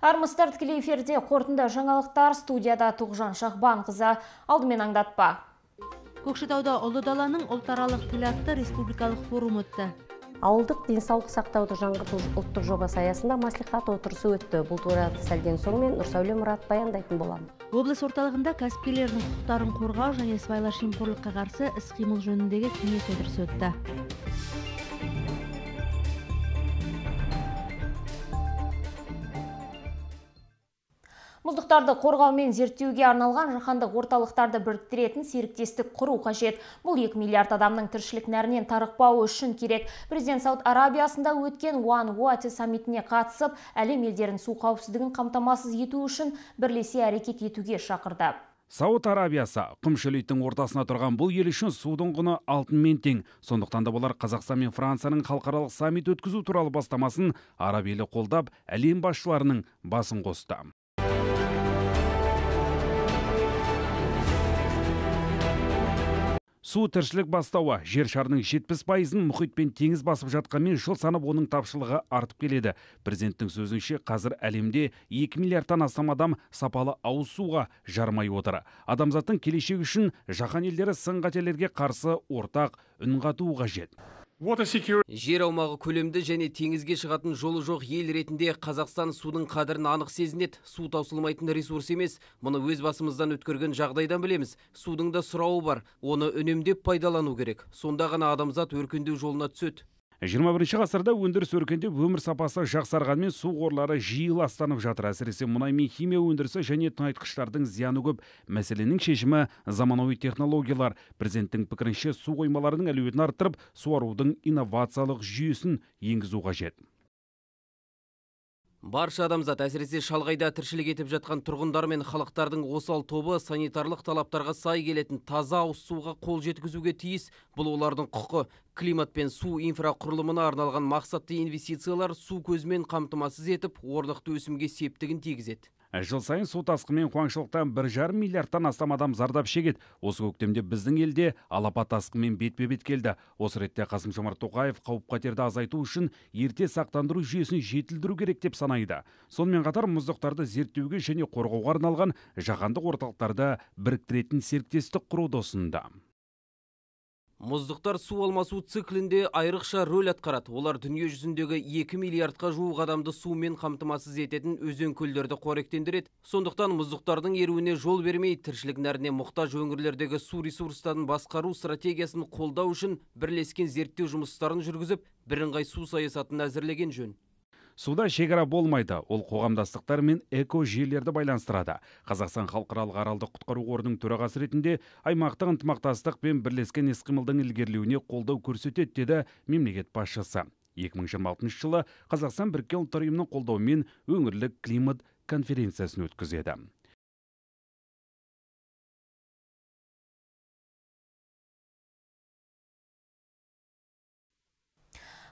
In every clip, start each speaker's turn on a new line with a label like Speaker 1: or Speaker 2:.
Speaker 1: Армысыздар, тікелей эфирде қорытынды жаңалықтар, студияда Тоғжан Шахбанқызы. Алдымен аңдатпа.
Speaker 2: Көкшетауда Ұлы даланың ұлтаралық тіл атты республикалық форум өтті.
Speaker 3: Ауылдық денсаулық сақтауды жаңғырту ұлттық жобасы аясында маслихат отырысы өтті. Бұл туралы сәлден соң мен Нұрсәуле Мұрат баяндайтын боламын.
Speaker 2: Облыс орталығында кәсіпкерлердің құқықтарын қорғау және сыбайлас жемқорлыққа қарсы іс-қимыл жөніндегі кеңес отырысы өтті.
Speaker 1: Мұздықтарды қорғау мен зерттеуге арналған жаһандық орталықтарды біріктіретін серіктестік құру қажет. Бұл 2 миллиард адамның тіршілік нәрінен тарықпауы үшін керек. Президент Сауд Арабиясында өткен One Water саммитіне қатысып, әлем елдерін су қауіпсіздігін қамтамасыз ету үшін бірлесе әрекет етуге шақырды.
Speaker 4: Сауд Арабиясы құм шөлейттің ортасына тұрған бұл ел үшін судың құны алтынмен тең. Сондықтан да болар Қазақстан мен Францияның халықаралық саммит өткізу туралы бастамасын араб елі қолдап, әлем басшыларының басын қосты. Су тіршілік бастауы жер шарының 70%-ын мұхит пен теңіз басып жатқанмен жыл санап оның тапшылығы артып келеді. Президенттің сөзінше қазір әлемде 2 миллиардтан астам адам сапалы ауыз суға жармай отыр. Адамзаттың келешегі үшін жаһан елдері сын-қатерлерге қарсы ортақ үн қатуы қажет.
Speaker 5: Жер аумағы көлемді және теңізге шығатын жолы жоқ ел ретінде Қазақстан судың қадірін анық сезінеді. Су таусылмайтын ресурс емес. Мұны өз басымыздан өткерген жағдайдан білеміз. Судың да сұрауы бар. Оны үнемдеп пайдалану керек. Сонда ғана адамзат өркендеу жолына түседі.
Speaker 4: 21 ғасырда өндіріс өркендеп, өмір сапасы жақсарғанмен су қорлары жиі ластанып жатыр. Әсіресе мұнай мен химия өндірісі және тыңайтқыштардың зияны көп. Мәселенің шешімі заманауи технологиялар. Президенттің пікірінше су қоймаларының әлеуетін арттырып, суарудың инновациялық жүйесін енгізу қажет.
Speaker 5: Барша адамзат, әсіресе шалғайда тіршілік етіп жатқан тұрғындар мен халықтардың осал тобы санитарлық талаптарға сай келетін таза ауыз суға қол жеткізуге тиіс. Бұл олардың құқы. Климат пен су инфрақұрылымына арналған мақсатты инвестициялар су көзімен қамтамасыз етіп, орнықты өсімге септігін тигізеді.
Speaker 4: Жыл сайын су тасқыны мен қуаңшылықтан 1,5 миллиардтан астам адам зардап шегеді. Осы көктемде біздің елде алапат тасқынмен бетпе-бет келді. Осы ретте Қасым-Жомарт Тоқаев қауіп-қатерді азайту үшін ерте сақтандыру жүйесін жетілдіру керек деп санайды. Сонымен қатар мұздықтарды зерттеуге және қорғауға арналған жаһандық орталықтарды біріктіретін серіктестік құруды ұсынды.
Speaker 5: Мұздықтар су алмасу циклінде айрықша рөл атқарады. Олар дүние жүзіндегі 2 миллиардқа жуық адамды сумен қамтамасыз ететін өзен көлдерді қоректендіреді. Сондықтан мұздықтардың еруіне жол бермей, тіршілік нәріне мұқтаж өңірлердегі су ресурстарын басқару стратегиясын қолдау үшін бірлескен зерттеу жұмыстарын жүргізіп, бірыңғай су саясатын әзірлеген жөн.
Speaker 4: Суда шекара болмайды, ол қоғамдастықтар мен эко-жүйелерді байланыстырады. Қазақстан халықаралық аралдық құтқару қорының төрағасы ретінде аймақтық ынтымақтастық пен бірлескен іс-қимылдың ілгерілеуіне қолдау көрсетеді, деді мемлекет басшысы. 2026 жылы Қазақстан Біріккен ұлттар ұйымының қолдауымен өңірлік климат конференциясын өткізеді.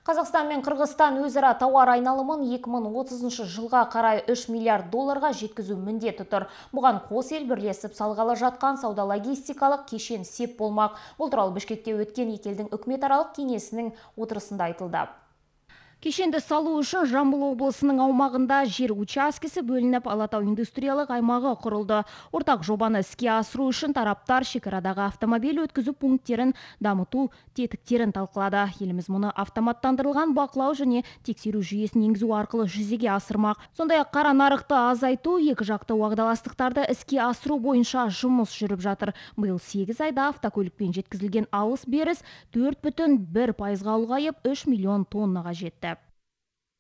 Speaker 1: Қазақстан мен Қырғызстан өзара тауар айналымын 2030 жылға қарай 3 миллиард долларға жеткізу міндеті тұр. Бұған қос ел бірлесіп салғалы жатқан сауда-логистикалық кешен сеп болмақ. Бұл туралы Бішкекте өткен екі елдің үкіметаралық кеңесінің отырысында айтылды.
Speaker 2: Кешенді салу үшін Жамбыл облысының аумағында жер учаскесі бөлініп, Алатау индустриялық аймағы құрылды. Ортақ жобаны іске асыру үшін тараптар шекарадағы автомобиль өткізу пункттерін дамыту тетіктерін талқылады. Еліміз мұны автоматтандырылған бақылау және тексеру жүйесін енгізу арқылы жүзеге асырмақ. Сондай-ақ қара нарықты азайту, екі жақты уағдаластықтарды іске асыру бойынша жұмыс жүріп жатыр. Биыл 8 айда автокөлікпен жеткізілген алыс-беріс 4,1%-ға ұлғайып 3 миллион тоннаға жетті.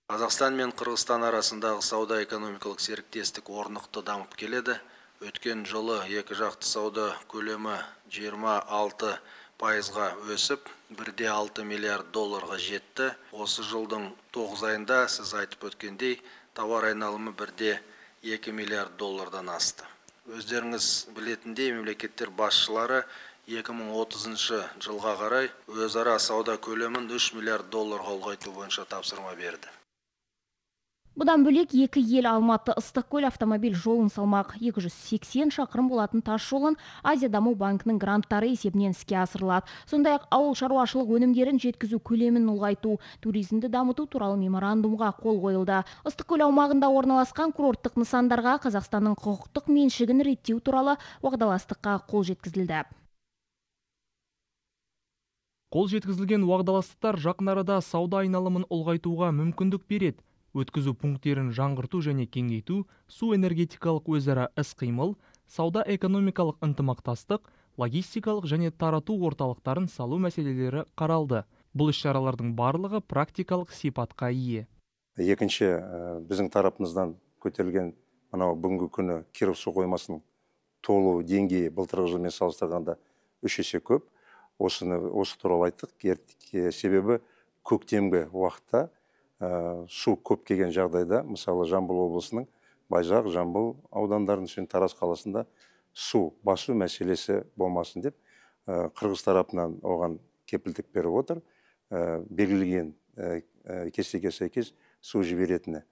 Speaker 6: Қазақстан мен Қырғызстан арасындағы сауда-экономикалық серіктестік орнықты дамып келеді. Өткен жылы екі жақты сауда көлемі 26%-ға өсіп, 1,6 миллиард долларға жетті. Осы жылдың 9 айында сіз айтып өткендей, тауар айналымы 1,2 миллиард доллардан асты. Өздеріңіз білетіндей, мемлекеттер басшылары 2030 жылға қарай өзара сауда көлемін 3 миллиард долларға ұлғайту бойынша тапсырма берді.
Speaker 2: Бұдан бөлек екі ел Алматы Ыстықкөл автомобиль жолын салмақ. 280 шақырым болатын тас жолын Азия даму банкінің гранттары есебінен іске асырылады. Сондай-ақ ауыл шаруашылық өнімдерін жеткізу көлемін ұлғайту, туризмді дамыту туралы меморандумға қол қойылды. Ыстықкөл аумағында орналасқан курорттық нысандарға Қазақстанның құқықтық меншігін реттеу туралы уағдаластыққа қол жеткізілді.
Speaker 7: Қол жеткізілген уағдаластықтар жақын арада сауда айналымын ұлғайтуға мүмкіндік береді. Өткізу пункттерін жаңғырту және кеңейту, су энергетикалық өзара іс-қимыл, сауда-экономикалық ынтымақтастық, логистикалық және тарату орталықтарын салу мәселелері қаралды. Бұл іс-шаралардың барлығы практикалық сипатқа ие.
Speaker 8: Екінші, біздің тарапымыздан көтерілген бүгінгі күні Киров су қоймасының толу деңгейі былтырғы жылмен салыстырғанда 3 есе көп. Осы туралы айттық. Себебі көктемгі уақытта су көп келген жағдайда, мысалы Жамбыл облысының Байзақ, Жамбыл аудандарының үшін Тараз қаласында су басу мәселесі болмасын деп, Қырғыз тарапынан оған кепілдік беріп отыр. Белгілеген кестеге сәйкес су жіберетіні.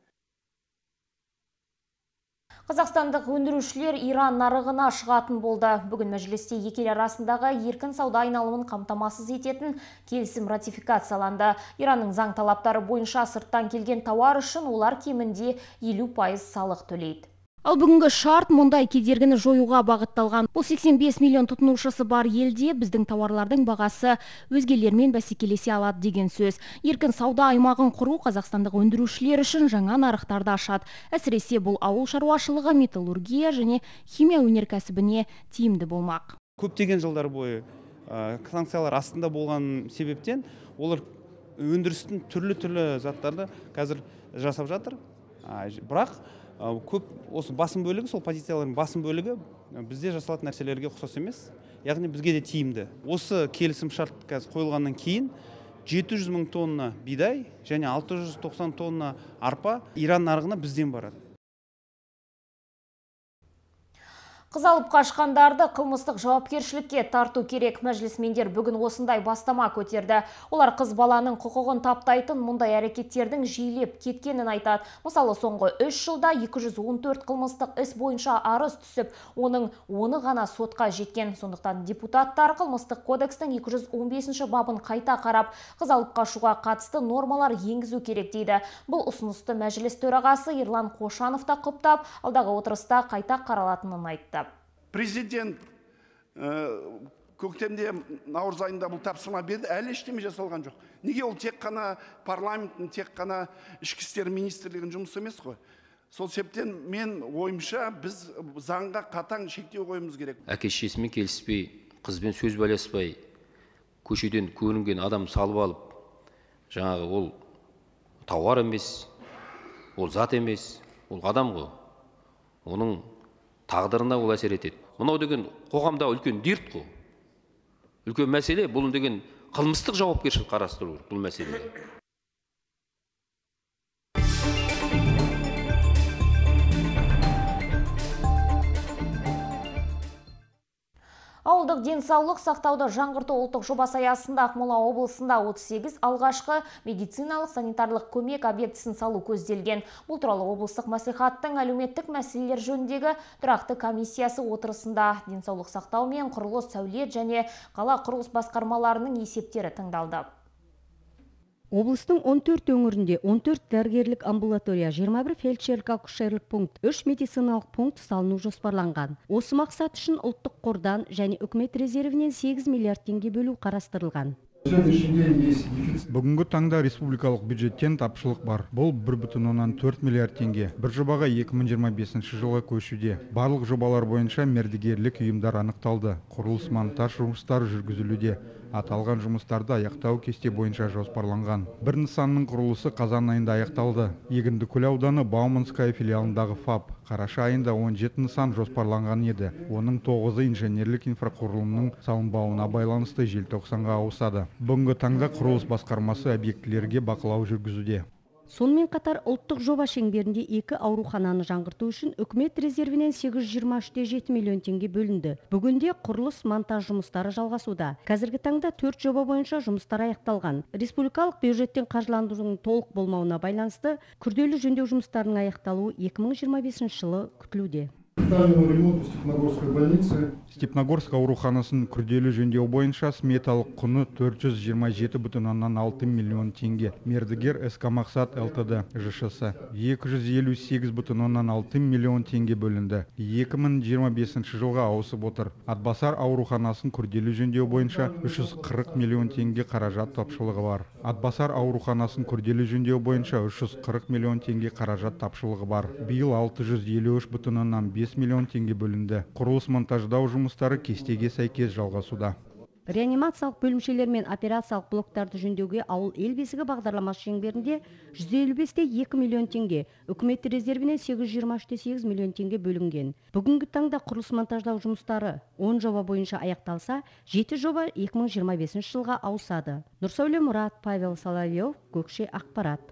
Speaker 1: Қазақстандық өндірушілер Иран нарығына шығатын болды. Бүгін мәжілісте екі ел арасындағы еркін сауда айналымын қамтамасыз ететін келісім ратификацияланды. Иранның заң талаптары бойынша сырттан келген тауар үшін олар кемінде 50% салық төлейді.
Speaker 2: Ал бүгінгі шарт мұндай кедергіні жоюға бағытталған. Бұл 85 миллион тұтынушысы бар елде біздің тауарлардың бағасы өзгелермен бәсекелесе алады деген сөз. Еркін сауда аймағын құру қазақстандық өндірушілер үшін жаңа нарықтарды ашады. Әсіресе бұл ауыл шаруашылығы, металлургия және химия өнеркәсібіне тиімді болмақ.
Speaker 9: Көптеген жылдар бойы санкциялар астында болған себептен олар өндірістің түрлі заттарды қазір жасап жатыр. Бірақ көп осы басым бөлігі, сол позициялардың басым бөлігі бізде жасалатын нәрселерге ұқсас емес, яғни бізге де тиімді. Осы келісім шарт қазір қойылғаннан кейін 700 мың тонна бидай және 690 тонна арпа Иран нарығына бізден барады.
Speaker 1: Қыз алып қашқандарды қылмыстық жауапкершілікке тарту керек. Мәжілісмендер бүгін осындай бастама көтерді. Олар қыз баланың құқығын таптайтын мұндай әрекеттердің жиілеп кеткенін айтады. Мысалы, соңғы 3 жылда 214 қылмыстық іс бойынша арыз түсіп, оның 10-ы ғана сотқа жеткен. Сондықтан депутаттар қылмыстық кодекстің 215 бабын қайта қарап, қыз алып қашуға қатысты нормалар енгізу керек дейді. Бұл ұсынысты мәжіліс төрағасы Ерлан Қошанов та құптап, алдағы отырыста қайта қаралатынын айтты.
Speaker 10: Президент көктемде наурыз айында бұл тапсырма берді, әлі ештеме жасалған жоқ. Неге ол тек қана парламенттің, тек қана ішкі істер министрлігінің жұмысы емес қой? Сол себептен мен ойымша біз заңға қатаң шектеу қоюымыз керек.
Speaker 11: Әке-шешесімен келіспей, қызбен сөз байласпай, көшеден көрінген адам салып алып, жаңағы ол тауар емес, ол зат емес, ол адам ғой. Оның тағдырына ол әсер етеді. Мынау деген қоғамда үлкен дерт қой. Үлкен мәселе, бұл деген қылмыстық жауапкершілік қарастыру бұл мәселе.
Speaker 1: Ауылдық денсаулық сақтауды жаңғырту ұлттық жобасы аясында Ақмола облысында 38 алғашқы медициналық санитарлық көмек объектісін салу көзделген. Бұл туралы облыстық мәслихаттың әлеуметтік мәселелер жөніндегі тұрақты комиссиясы отырысында денсаулық сақтау мен құрылыс, сәулет және қала құрылыс басқармаларының есептері тыңдалды.
Speaker 3: Облыстың 14 өңірінде 14 дәрігерлік амбулатория, 21 фельдшерлік-акушерлік пункт, 3 медициналық пункт салыну жоспарланған. Осы мақсат үшін ұлттық қордан және үкімет резервінен 8 миллиард теңге бөлу қарастырылған.
Speaker 12: Бүгінгі таңда республикалық бюджеттен тапшылық бар. Бұл 1,4 миллиард теңге. Бір жобаға 2025 жылға көшуде. Барлық жобалар бойынша мердігерлік ұйымдар анықталды. Құрылыс монтаж жұмыстары жүргізілуде. Аталған жұмыстарды аяқтау кесте бойынша жоспарланған. Бір нысанның құрылысы қазан айында аяқталды. Егіндікөл ауданы Бауманская филиалындағы ФАП. Қараша айында 17 нысан жоспарланған еді. Оның 9-ы инженерлік инфрақұрылымның салынбауына байланысты желтоқсанға ауысады. Бүгінгі таңда құрылыс басқармасы объектілерге бақылау жүргізуде.
Speaker 3: Сонымен қатар ұлттық жоба шеңберінде 2 аурухананы жаңғырту үшін үкімет резервінен 823,7 миллион теңге бөлінді. Бүгінде құрылыс монтаж жұмыстары жалғасуда. Қазіргі таңда 4 жоба бойынша жұмыстар аяқталған. Республикалық бюджеттен қаржыландырудың толық болмауына байланысты күрделі жөндеу жұмыстарының аяқталуы 2025 жылы күтілуде.
Speaker 12: Степногорск ауруханасын күрделі жөндеу бойынша сметалық құны 427,6 миллион теңге. Мердігер СК Мақсат ЛТД ЖШС 258,6 миллион теңге бөлінді. 2025 жылға ауысып отыр. Атбасар ауруханасын күрделі жөндеу бойынша 340 миллион теңге қаражат тапшылығы бар. Атбасар ауруханасын күрделі жөндеу бойынша 340 миллион теңге қаражат тапшылығы бар. Биыл 653,5 миллион теңге бөлінді. Құрылыс монтаждау жұмыстары кестеге сәйкес жалғасуда.
Speaker 3: Реанимациялық бөлімшелер мен операциялық блоктарды жөндеуге ауыл ел бесігі бағдарламасы шеңберінде 155,2 миллион теңге, үкімет резервінен 823,8 миллион теңге бөлінген. Бүгінгі таңда құрылыс монтаждау жұмыстары 10 жоба бойынша аяқталса, 7 жоба 2025 жылға ауысады. Нұрсәуле Мұрат, Павел Соловьев, Көкше ақпарат.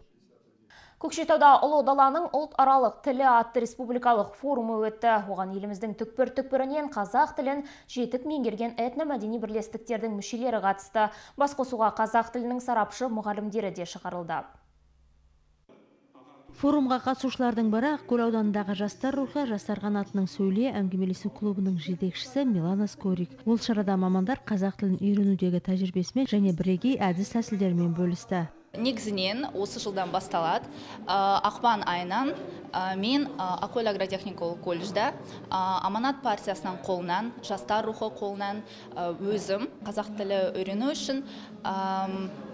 Speaker 1: Көкшетауда ұлы даланың ұлтаралық тілі атты республикалық форумы өтті. Оған еліміздің түкпір-түкпірінен қазақ тілін жетік меңгерген этномәдени бірлестіктердің мүшелері қатысты. Басқосуға қазақ тілінің сарапшы мұғалімдері де шығарылды.
Speaker 2: Форумға қатысушылардың бірі Ақкөл ауданындағы жастар рухы жастар қанатының сөйле әңгімелесу клубының жетекшісі Милана Скорик. Ол шарада мамандар қазақ тілін үйренудегі тәжірибесімен және бірегей әдіс тәсілдермен бөлісті.
Speaker 13: Негізінен осы жылдан басталады. Ақпан айынан мен Ақкөл агротехникалық колледжда Аманат партиясынан қолынан, жастар рухы қолынан өзім қазақ тілі үйрену үшін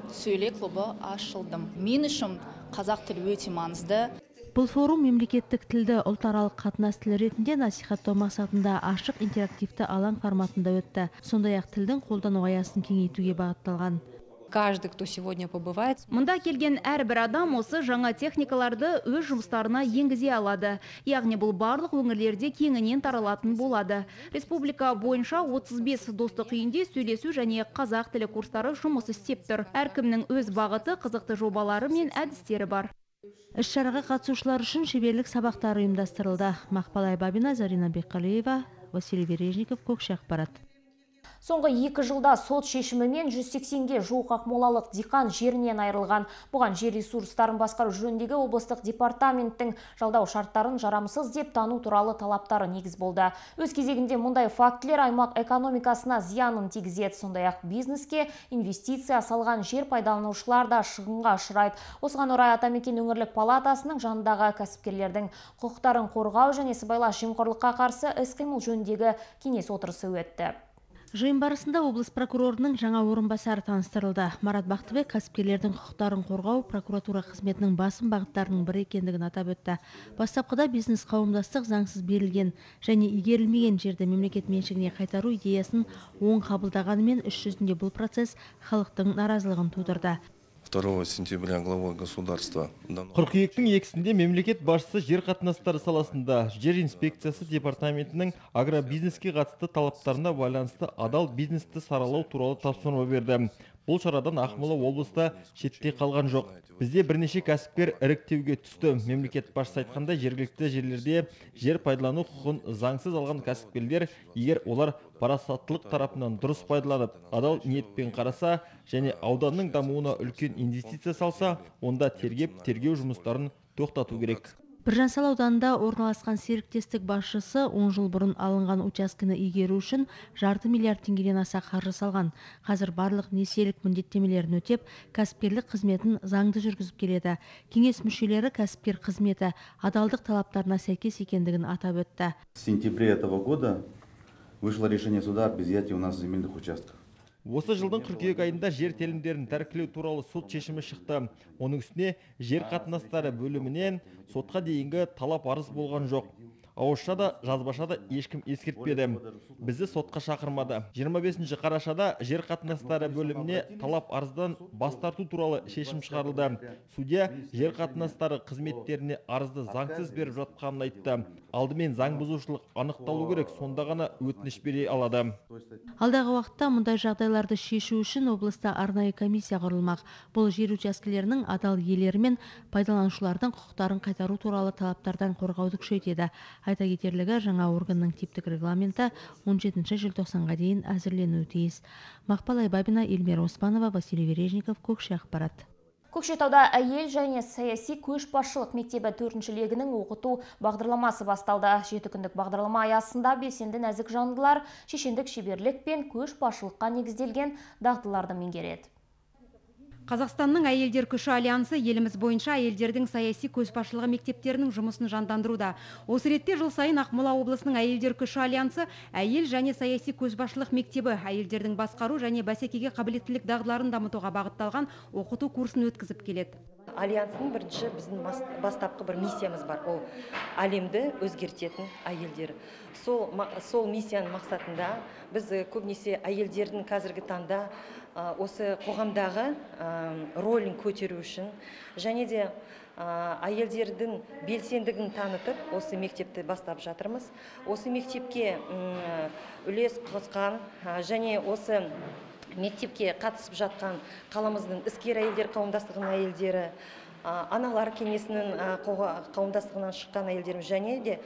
Speaker 13: сөйле клубы ашылдым. Мен үшін қазақ тілі өте маңызды.
Speaker 2: Бұл форум мемлекеттік тілді ұлтаралық қатынас тілі ретінде насихаттау мақсатында ашық интерактивті алаң форматында өтті. Сондай-ақ тілдің қолдану аясын кеңейтуге бағытталған.
Speaker 14: Каждый, кто сегодня побывает.
Speaker 2: Мұнда келген әрбір адам осы жаңа техникаларды өз жұмыстарына енгізе алады. Яғни бұл барлық өңірлерде кеңінен таралатын болады. Республика бойынша 35 достық үйінде сөйлесу және қазақ тілі курстары жұмыс істеп тұр. Әркімнің өз бағыты, қызықты жобалары мен әдістері бар. Іс-шараға қатысушылар үшін шеберлік сабақтары ұйымдастырылды. Мақпал Айбабина, Зарина Бекқалиева, Василий Бережников, Көкше ақпарат.
Speaker 1: Соңғы 2 жылда сот шешімімен 180-ге жуық ақмолалық диқан жерінен айырылған. Бұған жер ресурстарын басқару жөніндегі облыстық департаменттің жалдау шарттарын жарамсыз деп тану туралы талаптары негіз болды. Өз кезегінде мұндай фактілер аймақ экономикасына зиянын тигізеді. Сондай-ақ бизнеске инвестиция салған жер пайдаланушылар да шығынға ұшырайды. Осыған орай Атамекен өңірлік палатасының жанындағы кәсіпкерлердің құқықтарын қорғау және сыбайлас жемқорлыққа қарсы іс-қимыл жөніндегі кеңес отырысы өтті.
Speaker 2: Жиын барысында облыс прокурорының жаңа орынбасары таныстырылды. Марат Бақтыбек кәсіпкерлердің құқықтарын қорғау прокуратура қызметінің басым бағыттарының бірі екендігін атап өтті. Бастапқыда бизнес қауымдастық заңсыз берілген және игерілмеген жерді мемлекет меншігіне қайтару идеясын оң қабылдағанымен іс жүзінде бұл процесс халықтың наразылығын тудырды.
Speaker 15: 2 сентября главой государства.
Speaker 16: Қыркүйектің 2-сінде мемлекет басшысы жер қатынастары саласында жер инспекциясы департаментінің агробизнеске қатысты талаптарына байланысты адал бизнесті саралау туралы тапсырма берді. Бұл шарадан Ақмола облыста шетте қалған жоқ. Бізде бірнеше кәсіпкер іріктеуге түсті. Мемлекет басшысы айтқандай, жергілікті жерлерде жер пайдалану құқығын заңсыз алған кәсіпкерлер, егер олар парасаттылық тарапынан дұрыс пайдаланып, адал ниетпен қараса және ауданның дамуына үлкен инвестиция салса, онда тергеу жұмыстарын тоқтату керек.
Speaker 2: Біржансал ауданында орналасқан серіктестік басшысы 10 жыл бұрын алынған учаскені игеру үшін жарты миллиард теңгеден аса қаржы салған. Қазір барлық несиелік міндеттемелерін өтеп, кәсіпкерлік қызметін заңды жүргізіп келеді. Кеңес мүшелері кәсіпкер қызметі адалдық талаптарына сәйкес екендігін атап өтті.
Speaker 17: В сентябре этого года вышло решение суда об изъятии у нас земельных участков.
Speaker 16: Осы жылдың қыркүйек айында жер телімдерін тәркілеу туралы сот шешімі шықты. Оның үстіне жер қатынастары бөлімінен сотқа дейінгі талап арыз болған жоқ. Ауызша да, жазбаша да ешкім ескертпеді. Бізді сотқа шақырмады. 25 қарашада жер қатынастары бөліміне талап арыздан бас тарту туралы шешім шығарылды. Судья жер қатынастары қызметтеріне арызды заңсыз беріп жатқанын айтты. Алдымен заң бұзушылық анықталу керек, сонда ғана өтініш бере алады.
Speaker 3: Алдағы уақытта мұндай жағдайларды шешу үшін облыста арнайы комиссия құрылмақ. Бұл жер учаскелерінің адал иелері мен пайдаланушылардың құқықтарын қайтару туралы талаптардан қорғауды күшейтеді. Айта кетерлігі, жаңа органның типтік регламенті 17 желтоқсанға дейін әзірленуі тиіс. Мақпал Айбабина, Эльмира Оспанова, Василий Вережников, Көкше ақпарат.
Speaker 1: Көкшетауда әйел және саяси көшбасшылық мектебі 4-ші легінің оқыту бағдарламасы басталды. 7 күндік бағдарлама аясында белсенді нәзік жандылар шешендік шеберлік пен көшбасшылыққа негізделген дағдыларды меңгереді.
Speaker 18: Қазақстанның әйелдер күші альянсы еліміз бойынша әйелдердің саяси көшбасшылығы мектептерінің жұмысын жандандыруда. Осы ретте жыл сайын Ақмола облысының әйелдер күші альянсы әйел және саяси көшбасшылық мектебі әйелдердің басқару және бәсекеге қабілеттілік дағдыларын дамытуға бағытталған оқыту курсын өткізіп келеді.
Speaker 19: Альянстың бірінші біздің бастапқы бір миссиямыз бар, ол әлемді өзгертетін әйелдер. Сол миссияның мақсатында біз көбінесе әйелдердің қазіргі таңда осы қоғамдағы рөлін көтеру үшін және де әйелдердің белсендігін танытып, осы мектепті бастап жатырмыз. Осы мектепке үлес қосқан және осы мектепке қатысып жатқан қаламыздың іскер әйелдер қауымдастығының әйелдері, аналар кеңесінің қауымдастығынан шыққан әйелдеріміз және де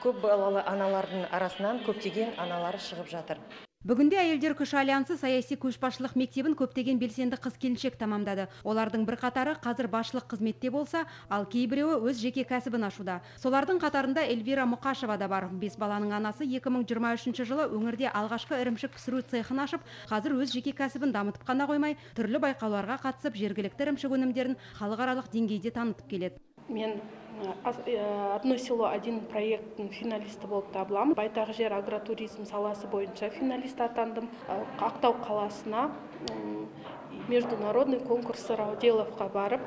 Speaker 19: көп балалы аналардың арасынан көптеген аналар шығып жатыр.
Speaker 18: Бүгінде әйелдер күші альянсы саяси көшбасшылық мектебін көптеген белсенді қыз-келіншек тамамдады. Олардың бірқатары қазір басшылық қызметте болса, ал кейбіреуі өз жеке кәсібін ашуда. Солардың қатарында Эльвира Мұқашева да бар. 5 баланың анасы 2023 жылы өңірде алғашқы ірімшік пісіру цехын ашып, қазір өз жеке кәсібін дамытып қана қоймай, түрлі байқауларға қатысып, жергілікті ірімшік өнімдерін халықаралық деңгейде танытып келеді.
Speaker 20: Мен «Одно село, один проекттің финалисті болып табыламын. Байтақ жер агротуризм саласы бойынша финалист атандым. Ақтау қаласына международный конкурсы Рауделовқа барып,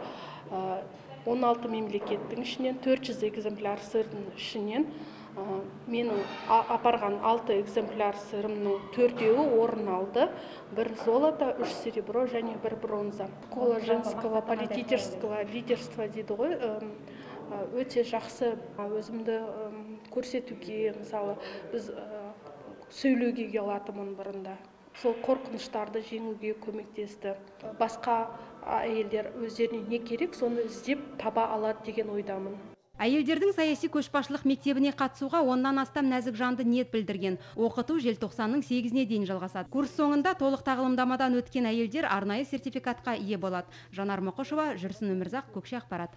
Speaker 20: 16 мемлекеттің ішінен 400 экземпляр сырдың ішінен менің апарған 6 экземпляр сырымның 4-еуі орын алды. 1 золото, 3 серебро және 1 бронза. Школа женского политического лидерства дейді ғой. Өте жақсы өзімді көрсетуге, мысалы, біз сөйлеуге келатымын бұрында. Сол қорқыныштарды жеңуге көмектесті. Басқа әйелдер өздеріне не керек, соны іздеп таба алады деген ойдамын.
Speaker 18: Әйелдердің саяси көшбасшылық мектебіне қатысуға 10-нан астам нәзік жанды ниет білдірген. Оқыту желтоқсанның 8-іне дейін жалғасады. Курс соңында толық тағылымдамадан өткен әйелдер арнайы сертификатқа ие болады. Жанар Мұқышева, Жүрсін Өмірзақ, Көкше ақпарат.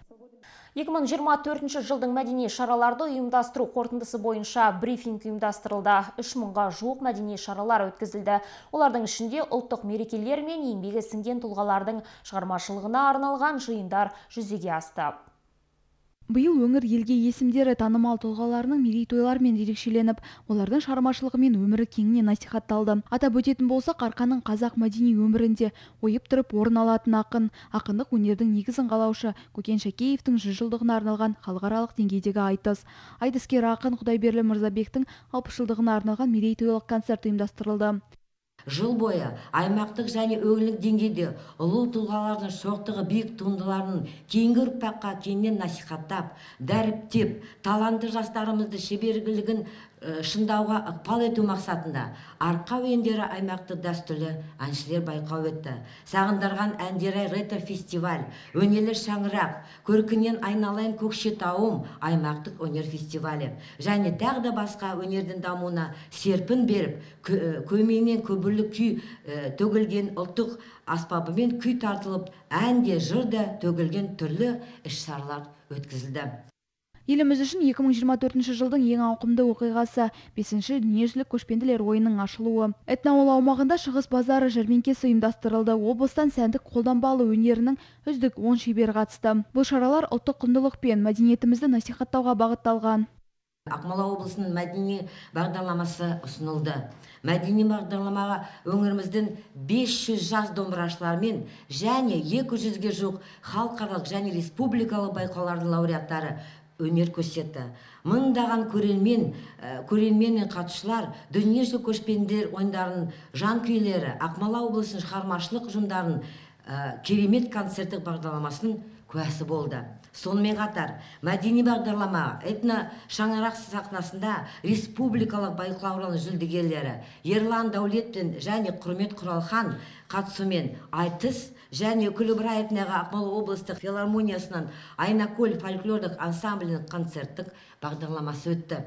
Speaker 1: 2024 жылдың мәдени шараларды ұйымдастыру қорытындысы бойынша брифинг ұйымдастырылды. 3000-ға жуық мәдени шаралар өткізілді. Олардың ішінде ұлттық мерекелер мен еңбегі сіңген тұлғалардың шығармашылығына арналған жиындар жүзеге асты.
Speaker 21: Биыл өңір елге есімдері танымал тұлғаларының мерейтойлармен ерекшеленіп, олардың шығармашылығы мен өмірі кеңінен насихатталды. Атап өтетін болса, Қарқаның қазақ мәдени өмірінде ойып тұрып орын алатын ақындық өнердің негізін қалаушы Көкен Шәкеевтің 100 жылдығына арналған халықаралық деңгейдегі айтыс. Айтыскер ақын Құдайберлі Мырзабектің 60 жылдығына арналған мерейтойлық концерт ұйымдастырылды.
Speaker 22: Жыл бойы аймақтық және өңірлік деңгейде ұлы тұлғалардың шоқтығы биік туындыларын кейінгі ұрпаққа кеңінен насихаттап, дәріптеп, талантты жастарымызды шеберлігін шыңдауға ықпал ету мақсатында арқа өендері аймақты дәстүрлі әншілер байқау өтті. Сағындырған әндері ретро-фестиваль, өнерлі шаңырақ, көркінен айналайын Көкшетауым аймақтық өнер фестивалі және тағы да басқа өнердің дамуына серпін беріп, көмейінен көбірлі күй төгілген ұлттық аспабымен күй тартылып, әнде жырда төгілген түрлі іс-шаралар өткізілді.
Speaker 21: Еліміз үшін 2024 жылдың ең ауқымды оқиғасы 5-ші дүниежүзілік көшпенділер ойынның ашылуы. Этноауыл аумағында шығыс базары жәрмеңкесі ұйымдастырылды. Облыстан сәндік қолданбалы өнерінің үздік 10 шебер қатысты. Бұл шаралар ұлттық құндылық пен мәдениетімізді насихаттауға бағытталған.
Speaker 22: Ақмола облысының мәдени бағдарламасы ұсынылды. Мәдени бағдарламаға өңіріміздің 500 жас домбырашылармен және 200-ге жуық халықаралық және республикалық байқаулардың лауреаттары өнер көрсетті. Мыңдаған көрермен мен қатысушылар дүниежүзілік көшпенділер ойындарының жанкүйлері, Ақмола облысының шығармашылық ұжымдарының керемет концерттік бағдарламасының куәсі болды. Сонымен қатар мәдени бағдарлама этно шаңырақ сахнасында республикалық байқаулардың жүлдегерлері Ерлан Дәулетпен және Құрмет Құралхан қатысуымен айтыс және Күлібай атындағы Ақмола облыстық филармониясынан Айнакөл фольклорлық ансамблінің концерттік бағдарламасы өтті.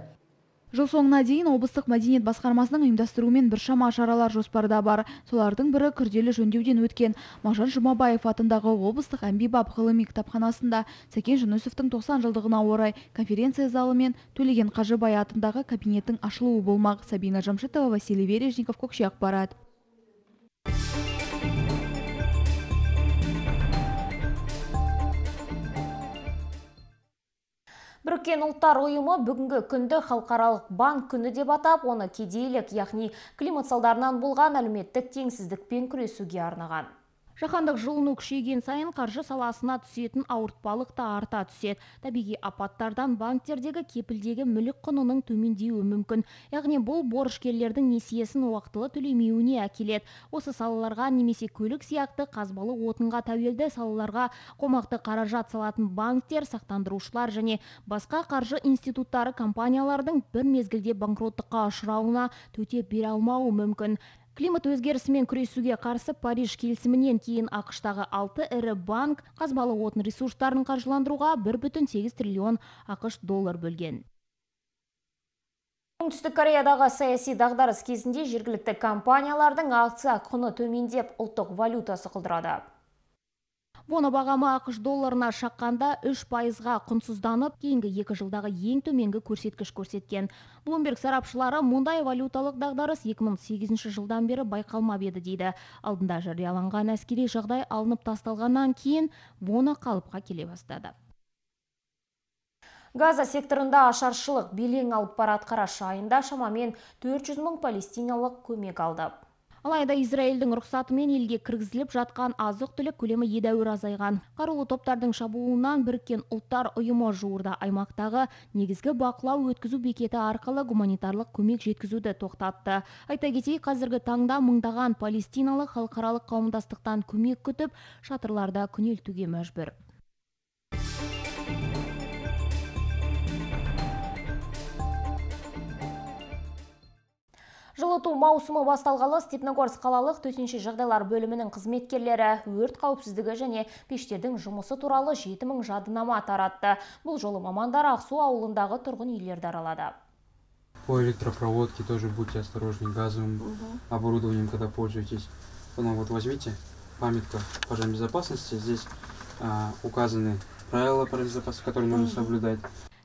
Speaker 21: Жыл соңына дейін облыстық мәдениет басқармасының ұйымдастыруымен біршама шаралар жоспарда бар. Солардың бірі күрделі жөндеуден өткен Мағжан Жұмабаев атындағы облыстық әмбебап ғылыми кітапханасында Сәкен Жүнісовтың 90 жылдығына орай конференция залы мен Төлеген Қажыбай атындағы кабинеттің ашылуы болмақ. Сабина Жамшитова, Василий Вережников, Көкше ақпарат.
Speaker 1: Біріккен ұлттар ұйымы бүгінгі күнді халықаралық банк күні деп атап, оны кедейлік, яғни климат салдарынан болған әлеуметтік теңсіздікпен күресуге арнаған.
Speaker 2: Жаһандық жылыну күшейген сайын қаржы саласына түсетін ауыртпалық та арта түседі. Табиғи апаттардан банктердегі кепілдегі мүлік құнының төмендеуі мүмкін. Яғни бұл борышкерлердің несиесін уақытылы төлемеуіне әкеледі. Осы салаларға немесе көлік сияқты қазбалы отынға тәуелді салаларға қомақты қаражат салатын банктер, сақтандырушылар және басқа қаржы институттары компаниялардың бір мезгілде банкроттыққа ұшырауына төтеп бере алмауы мүмкін. Климат өзгерісімен күресуге қарсы Париж келісімінен кейін ақштағы 6 ірі банк қазбалы отын ресурстарын қаржыландыруға 1,8 триллион ақш доллар бөлген.
Speaker 1: Оңтүстік Кореядағы саяси дағдарыс кезінде жергілікті компаниялардың акция құны төмендеп, ұлттық валютасы құлдырады.
Speaker 2: Воно бағамы ақш долларына шаққанда 3%-ға құнсызданып, кейінгі 2 жылдағы ең төменгі көрсеткіш көрсеткен. Bloomberg сарапшылары мұндай валюталық дағдарыс 2008 жылдан бері байқалмап еді дейді. Алдында жарияланған әскери жағдай алынып тасталғаннан кейін воно қалыпқа келе бастады.
Speaker 1: Газа секторында ашаршылық белең алып барады. Қараша айында шамамен 400 мың палестиналық көмек алды.
Speaker 2: Алайда Израильдің рұқсатымен елге кіргізіліп жатқан азық-түлік көлемі едәуір азайған. Қарулы топтардың шабуылынан Біріккен ұлттар ұйымы жуырда аймақтағы негізгі бақылау өткізу бекеті арқылы гуманитарлық көмек жеткізуді тоқтатты. Айта кетейік, қазіргі таңда мыңдаған палестиналық халықаралық қауымдастықтан көмек күтіп, шатырларда күнелтуге мәжбүр.
Speaker 1: Жылыту маусымы басталғалы Степногорск қалалық төтенше жағдайлар бөлімінің қызметкерлері өрт қауіпсіздігі және пештердің жұмысы туралы 7000 жадынама таратты. Бұл жолы мамандар Ақсу ауылындағы тұрғын үйлерді аралады.
Speaker 4: По электропроводке тоже будьте осторожны, газовым оборудованием, когда пользуетесь. Ну, вот возьмите памятку пожарной безопасности, здесь указаны правила пожарной безопасности, которые нужно соблюдать.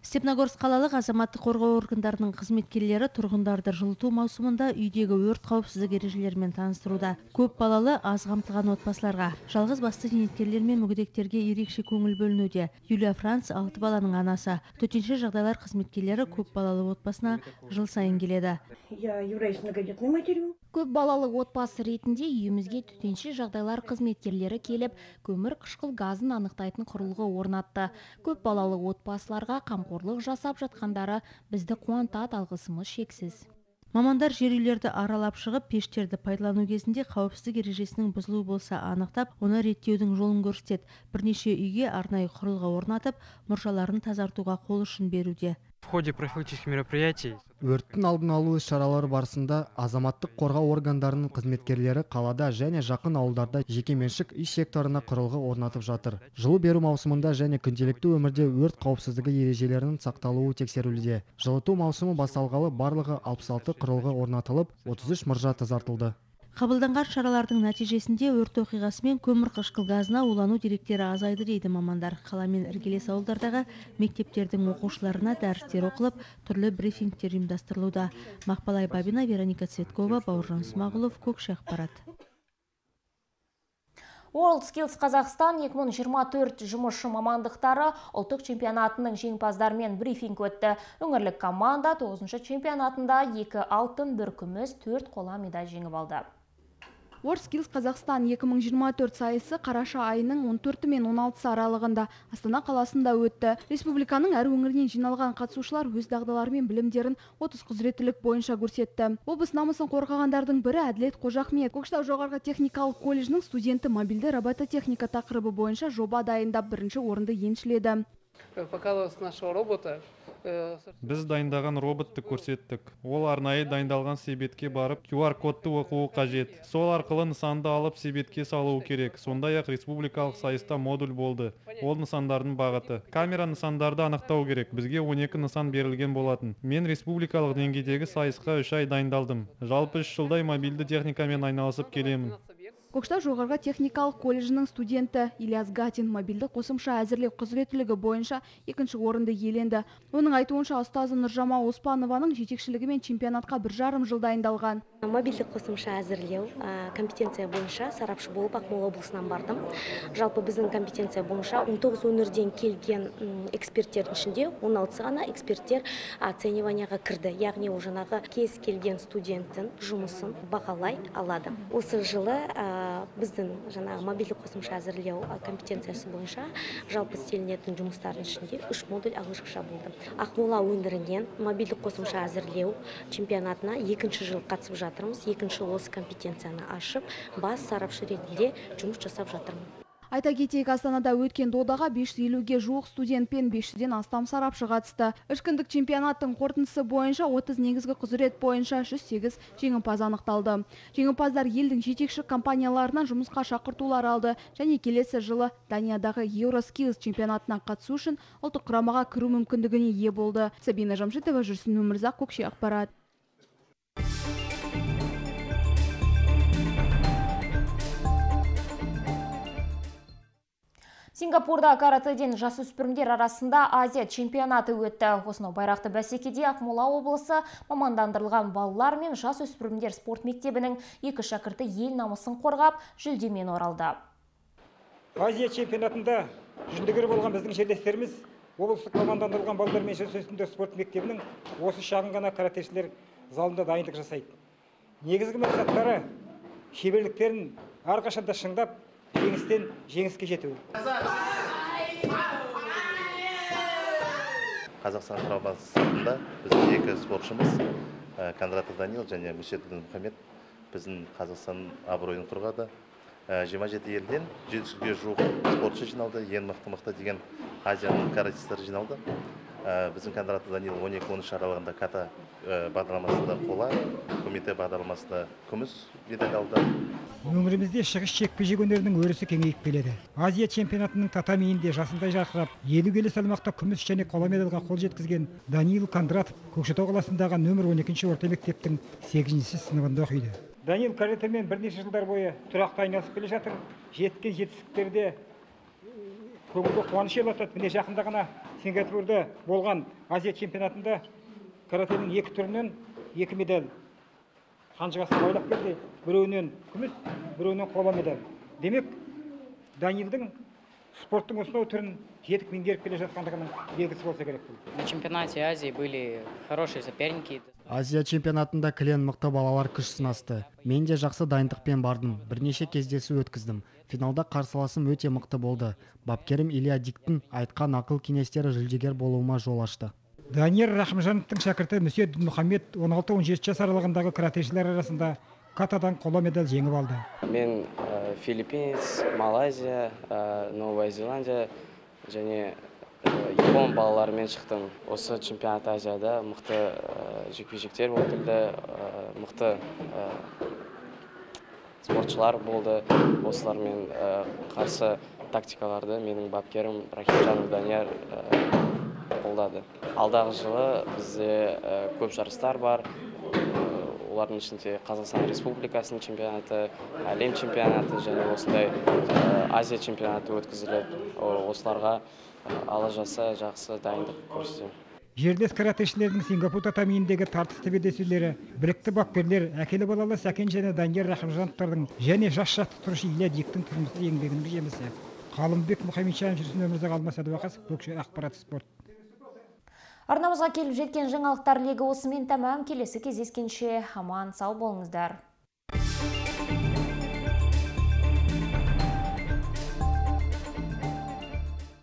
Speaker 3: Степногорск қалалық азаматтық қорғау органдарының қызметкерлері тұрғындарды жылыту маусымында үйдегі өрт қауіпсіздік ережелерімен таныстыруда. Көп балалы, аз қамтылған отбасыларға, жалғыз басты зейнеткерлер мен мүгедектерге ерекше көңіл бөлінуде. Юлия Франц 6 баланың анасы. Төтенше жағдайлар қызметкерлері көп балалы отбасына жыл сайын келеді.
Speaker 5: Я являюсь многодетной матерью.
Speaker 2: Көп балалы отбасы ретінде үйімізге төтенше жағдайлар қызметкерлері келіп, көмір қышқыл газын анықтайтын құрылғы орнатты. Көп балалы отбасыларға қамқорлық жасап жатқандары бізді қуантады, алғысымыз шексіз.
Speaker 3: Мамандар жер үйлерді аралап шығып, пештерді пайдалану кезінде қауіпсіздік ережесінің бұзылуы болса анықтап, оны реттеудің жолын көрсетеді. Бірнеше үйге арнайы құрылғы орнатып, мұржаларын тазартуға қол ұшын беруде.
Speaker 23: В ходе профилактических мероприятий
Speaker 24: өрттің алдын алу іс-шаралары барысында азаматтық қорғау органдарының қызметкерлері қалада және жақын ауылдарда жекеменшік үй секторына құрылғы орнатып жатыр. Жылу беру маусымында және күнделікті өмірде өрт қауіпсіздігі ережелерінің сақталуы тексерілуде. Жылыту маусымы басталғалы барлығы 66 құрылғы орнатылып, 33 мұржа тазартылды.
Speaker 3: Қабылданған шаралардың нәтижесінде өрт оқиғасымен көмір қышқыл газына улану деректері азайды дейді мамандар. Қаламен іргелес ауылдардағы мектептердің оқушыларына дәрістер оқылып, түрлі брифингтер ұйымдастырылуда. Мақпалай Бабина, Вероника Цветкова, Бауыржан Смағұлов, Көкше ақпарат.
Speaker 1: WorldSkills Қазақстан 2024 жұмысшы мамандықтары ұлттық чемпионатының жеңімпаздарымен брифинг өтті. Өңірлік команда 9-шы чемпионатында 2 алтын, 1 күміс, 4 қола медаль жеңіп алды.
Speaker 21: WorldSkills Қазақстан 2024 сайысы қараша айының 14 мен 16 аралығында Астана қаласында өтті. Республиканың әр өңірінен жиналған қатысушылар өз дағдылары мен білімдерін 30 құзыреттілік бойынша көрсетті. Облыс намысын қорғағандардың бірі Әділет Қожахмет. Көкшетау жоғарғы техникалық колледжінің студенті мобильді робототехника тақырыбы бойынша жоба дайындап бірінші орынды еншіледі.
Speaker 6: Показалось нашего робота.
Speaker 7: Біз дайындаған роботты көрсеттік. Ол арнайы дайындалған себетке барып, QR-кодты оқуы қажет. Сол арқылы нысанды алып себетке салуы керек. Сондай-ақ республикалық сайыста модуль болды. Ол нысандардың бағыты. Камера нысандарды анықтау керек. Бізге 12 нысан берілген болатын. Мен республикалық деңгейдегі сайысқа 3 ай дайындалдым. Жалпы 3 жылдай мобильді техникамен айналысып келемін.
Speaker 21: Көкшетау жоғарғы техникалық колледжінің студенті Ильяс Гатин мобильді қосымша әзірлеу құзыреттілігі бойынша екінші орынды иеленді. Оның айтуынша ұстазы Нұржама Оспанованың жетекшілігімен чемпионатқа 1,5 жыл дайындалған.
Speaker 8: Мобильді қосымша әзірлеу компетенция бойынша сарапшы болып Ақмола облысынан бардым. Жалпы біздің компетенция бойынша 19 өңірден келген эксперттердің ішінде 16 ғана эксперттер оцениванияға кірді. Яғни ол жаңағы кез келген студенттің жұмысын бағалай алады. Осы жылы біздің жаңағы мобильді қосымша әзірлеу компетенциясы бойынша жалпы істелінетін жұмыстардың ішінде 3 модуль ағылшынша болды. Ақмола өңірінен мобильді қосымша әзірлеу чемпионатына 2-ші жыл қатысып жатырмыз. 2-ші осы компетенцияны ашып, бас сарапшы ретінде жұмыс жасап жатырмын.
Speaker 21: Айта кетейік, Астанада өткен додаға 550-ге жуық студент пен 500-ден астам сарапшы қатысты. Үшкіндік чемпионаттың қорытындысы бойынша 30 негізгі құзырет бойынша 108 жеңімпаз анықталды. Жеңімпаздар елдің жетекші компанияларынан жұмысқа шақыртулар алды және келесі жылы Даниядағы WorldSkills чемпионатына қатысу үшін ұлттық құрамаға кіру мүмкіндігіне ие болды. Сабина Жамшитова, Жүрсін Өмірзақ, Көкше ақпарат.
Speaker 1: Сингапурда каратэден жасөспірімдер арасында Азия чемпионаты өтті. Осынау байрақты бәсекеде Ақмола облысы мамандандырылған балалар мен жасөспірімдер спорт мектебінің 2 шәкірті ел намысын қорғап, жүлдемен оралды.
Speaker 9: Азия чемпионатында жүлдегер болған біздің жерлестеріміз облыстық мамандандырылған балалар мен жасөспірімдер спорт мектебінің осы шағын ғана каратешілер залында дайындық жасайды. Негізгі мақсаттары шеберліктерін әрқашанда шыңдап, жеңістен жеңіске жету.
Speaker 25: Қазақстан құрамасында біздің 2 спортшымыз Кондратов Данил және Мүсетдин Мұхаммед біздің Қазақстан абыройын қорғады. 27 елден 700-ге жуық спортшы жиналды, ең мықты деген Азияның каратистері жиналды. Біздің Кондратов Данил 12-13 аралығында ката бағдарламасында қола, комитет бағдарламасында күміс медаль алды.
Speaker 9: Өңірімізде шығыс жекпе-жек өнерінің өрісі кеңейіп келеді. Азия чемпионатының татамиінде жасындай жарқырап, 50 келі салмақта күміс және қола медальға қол жеткізген Данил Кондратов Көкшетау қаласындағы нөмір 12-ші орта мектептің 8-ші сыныбында оқиды. Данил каратэмен бірнеше жылдар бойы тұрақты айналысып келе жатыр. Жеткен жетістіктерде көңілге қуаныш елатады. Міне жақында ғана Сингапурда болған Азия чемпионатында каратэнің 2 түрінен 2 медаль қанжығасын байлап келді. Біреуінен күміс, біреуінен қола медаль. Демек, Данилдің спорттың осынау түрін жетік меңгеріп келе жатқандығының белгісі болса керек.
Speaker 26: На чемпионате Азии были хорошие соперники.
Speaker 24: Азия чемпионатында кілең мықты балалар күш сынасты. Мен де жақсы дайындықпен бардым. Бірнеше кездесу өткіздім. Финалда қарсыласым өте мықты болды. Бапкерім Илья Диктің айтқан ақыл кеңестері жүлдегер болуыма жол ашты.
Speaker 9: Данияр Рахымжановтың шәкірті Мүсетдин Мұхаммед 16-17 жас аралығындағы каратешілер арасында катадан қола медаль жеңіп алды.
Speaker 27: Мен Филиппинс, Малайзия, Новая Зеландия және Япон балаларымен шықтым. Осы чемпионат Азияда мықты жекпе-жектер өтілді, мықты спортшылар болды. Осылармен қарсы тактикаларды менің бапкерім Рахимжанов Данияр қолдады. Алдағы жылы бізде көп жарыстар бар. Олардың ішінде Қазақстан Республикасының чемпионаты, әлем чемпионаты және осындай Азия чемпионаты өткізіледі. Осыларға ала жаса жақсы дайындық көрсетемін.
Speaker 9: Жерлес каратешілердің Сингапур татамиіндегі тартысты белдесулері білікті бапкерлер әкелі балалы Сәкен және Данияр Рахымжановтардың және жас жаттықтырушы Илья Диктің тұрмысы еңбегінің жемісі. Қалымбек Мұхаммедшан, Жүрсін Өмірзақ, Алмас Әдуақасов, Көкше ақпарат спорт.
Speaker 1: Арнамызға келіп жеткен жаңалықтар легі осымен тәмам. Келесі кездескенше аман сау болыңыздар.